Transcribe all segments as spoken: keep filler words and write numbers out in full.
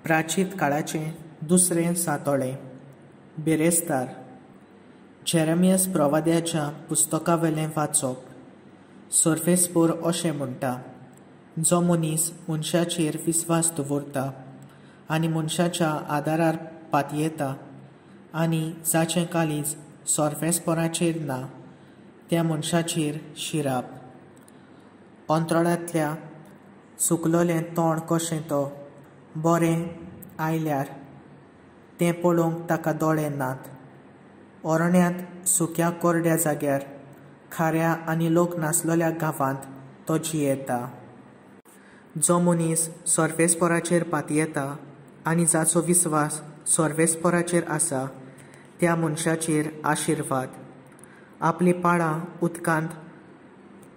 प्राचीत काळाचें दुसरें सातोळें. बिरेस्तार. जेरेमियस प्रवाद्याच्या पुस्तकावेलें वाचप. सर्वेस्पोर अशें म्हणटा, जो मनीस मनशाचेर विस्वास दवरता आनी मनशाच्या आदारार पातयेता आनी जाचें काळीज सर्वेस्पोराचेर ना त्या मनशाचेर शिराप. अंतराळांतल्या सुकलोलें तोंड कशें तो बरें आयल्यार तें पळोवंक ताका दोळे नात. अरण्यांत सुक्या कोरड्या जाग्यार खाऱ्या आनी लोक नासलेल्या गांवांत तो जियेता. जो मनीस सर्वेस्पोराचेर पातयेता आनी जाचो विस्वास सर्वेस्पोराचेर आसा त्या मनशाचेर आशिर्वाद. आपलीं पाळां उदकांत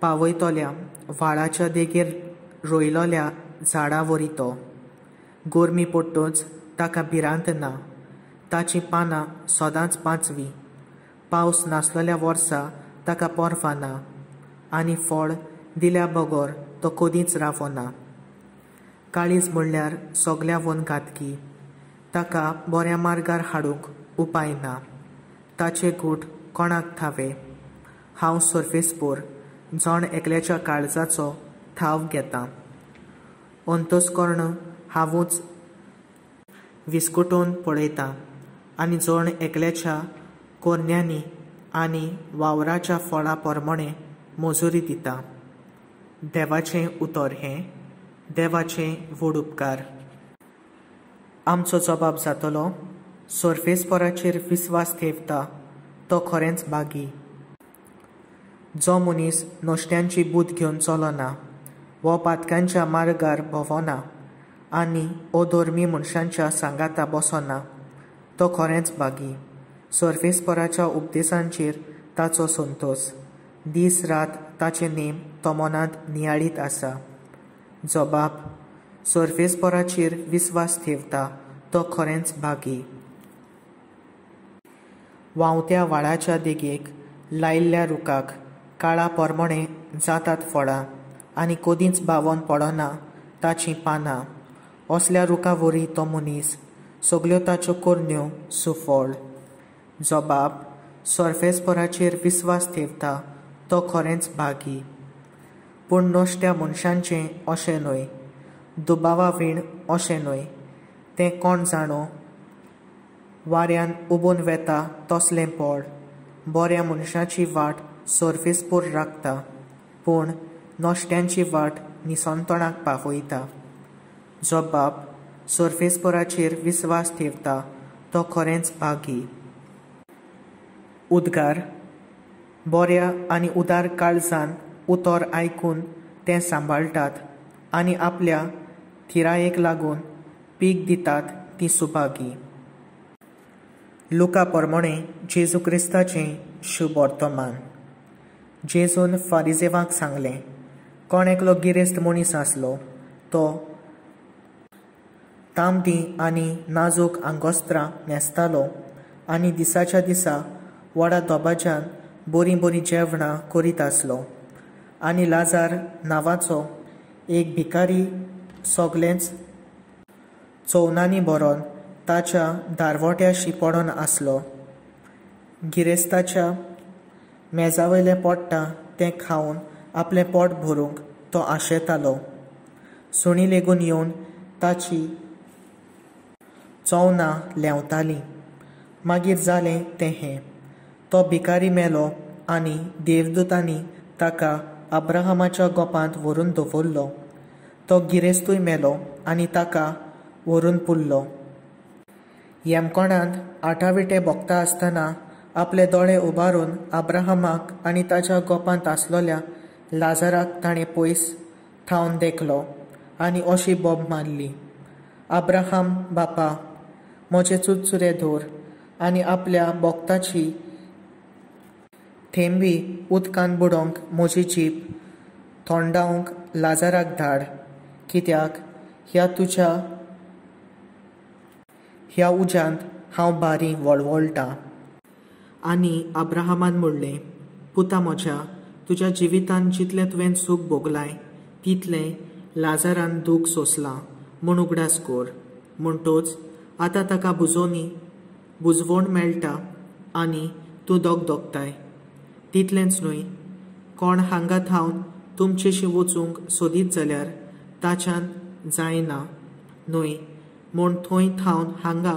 पावयतल्या व्हाळाच्या देगेर रोयलोल्या झाडां वरी तो. गरमी पडटच ताका भिरांत ना, ताचीं पानां सदांच पांचवीं. पावस नासलेल्या वर्सा ताका पर्वा ना आनी फळ दिल्या बगर तो कदींच रावना. काळीज म्हणल्यार सगळ्यावन घातकी, ताका बऱ्या मार्गार हाडूंक उपाय ना. ताचे गूट कोणाक थावे? हांव सर्वेस्पोर जण एकल्याच्या काळजाचो थाव घेता. अंतस्कर्ण हांवूच विस्कुटून पळयता आनी जण एकल्याच्या कोरण्यांनी आनी वावराच्या फळा प्रमाणें मजुरी दिता. देवाचें उतर हें. देवाचें व्हड उपकार. आमचो जबाब जातलो, सर्वेस्पोराचेर विस्वास ठेवता तो खरेंच भागी. जो मनीस नश्ट्यांची बूद घेवन चलना वो पातकांच्या मार्गार भोंवना आनी अधर्मी मनशांच्या सांगाता बसना तो खरेंच भागी. सर्वेस्पोराच्या उपदेशांचेर ताचो संतोस. दीस रात ताचे नेम तो मनांत नियाळीत आसा. जबाब, सर्वेस्पोराचेर विस्वास ठेवता तो खरेंच भागी. व्हांवत्या व्हाळाच्या देगेक लायिल्ल्या रुखाक काळा प्रमाणें जातात फळां आनी कदींच बावोन पडना ताचीं पानां. असल्या रुखा वरी तो मनीस, सगल्यो ताच्यो करण्यो सुफळ. जबाब, सर्वेस्पोराचेर विस्वास ठेवता तो खरेंच भागी. पूण नश्ट्या मनशांचें अशें न्हय, दुबावा वीण अशें न्हय. तें कोण जाणो, वाऱ्यान उबून वेता तसलें पड. बऱ्या मनशाची वाट सर्वेस्पोर राखता, पूण नश्ट्यांची वाट निसंतणाक पावयता. जबाब, सर्वेस्पोराचेर विस्वास ठेवता तो खरेंच भागी. उद्गार, बऱ्या आनी उदार काळजान उतर आयकून तें सांबाळटात आनी आपल्या थिरायेक लागून पीक दितात ती सुभागी. लुका प्रमाणें जेजू क्रिस्ताचें शुभ वर्तमान. जेजून फारिजेवांक सांगलें, कोण एकलो गिरेस्त मनीस आसलो, तो तांबडी आनी नाजूक आंगोस्त्रां न्हेसतालो आनी दिसाच्या दिसा व्हडा दबाज्यान बरीं बरीं जेवणां करीत आसलो. आनी लाजार नांवाचो एक भिकारी सगळेंच चोवनांनी भरोन ताच्या दारवट्याशी पडोन आसलो. गिरेस्ताच्या मेजावयलें पडटा तें खावन आपलें पोट भरूंक तो आशेतालो. सुणी लेगून येवन ताची चोवनां लेंवतालीं. मागीर जालें तें हें, तो भिकारी मेलो आनी देवदूतांनी ताका अब्राहमाच्या गोपांत व्हरून दवरलो. तो गिरेस्तूय मेलो आनी ताका व्हरून पुरलो. येमकोणांत आठाविटे भोगता आसतना आपले दोळे उबारून अब्राहमाक आनी ताच्या गोपांत आसलोल्या लाजाराक ताणें पयस थावन देखलो आनी अशी बोब मारली, अब्राहम बापा, म्हजे चुरचुरे धर आनी आपल्या बोगताची थेंबी उदकान बुडोवंक म्हजी जीब थोंडावंक लाजाराक धाड, कित्याक ह्या तुज्या ह्या उज्यांत हांव बारी वळवळटा. आनी अब्राहमान म्हणलें, पुता म्हज्या, तुज्या जिवितान जितलें तुवें सूख भोगलाय तितलें लाजारान दूख सोंसलां म्हूण उगडास कर. म्हणटोच आतां ताका बुजोवनी बुजवण मेळटा आनी तूं दगदगताय. तितलेंच न्हय, कोण हांगा थावन तुमचेशी वचूंक सोदीत जाल्यार ताच्यान जायना न्हय, म्हूण थंय थावन हांगा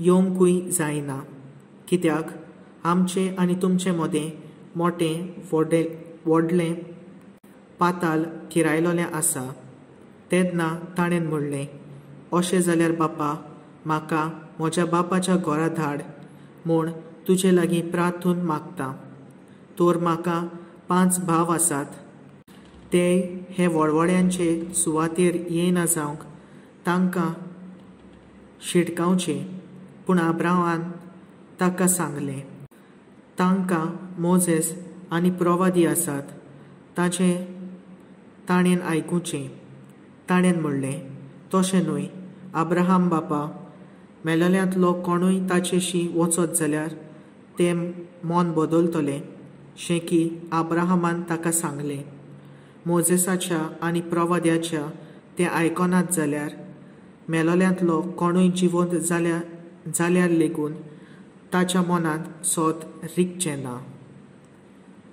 येवंकूय जायना. कित्याक आमचे आनी तुमचे मदें मोटें व्हडे व्हडलें पाताल थिरायलोलें आसा. तेन्ना ताणें म्हणलें, अशें जाल्यार बापा, म्हाका म्हज्या बापाच्या घरा धाड म्हूण तुजे लागीं प्रार्थून मागता. तर म्हाका पांच भाव आसात, ते हे वळवळ्यांचे सुवातेर येयना जावंक तांकां शिटकावचें. पूण अब्राहमान ताका सांगलें, तांकां मोजेस आनी प्रवादी आसात, ताचें ताणें आयकुचें. ताणें म्हणलें, तशें न्हय अब्राहम बापा, मेलोल्यांतलो कोणूय ताचेशी वचत जाल्यार ते मन बदलतले. शेकी अब्राहमान ताका सांगलें, मोजेसाच्या आनी प्रवाद्याच्या ते आयकनात जाल्यार मेलोल्यांतलो कोणूय जिवंत जाल्यार जाल्यार लेगून ताच्या मनांत सोत रिगचें ना.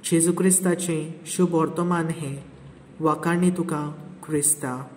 जेजू क्रिस्ताचें शुभ वर्तमान हें. वाखाणणी तुका क्रिस्ता.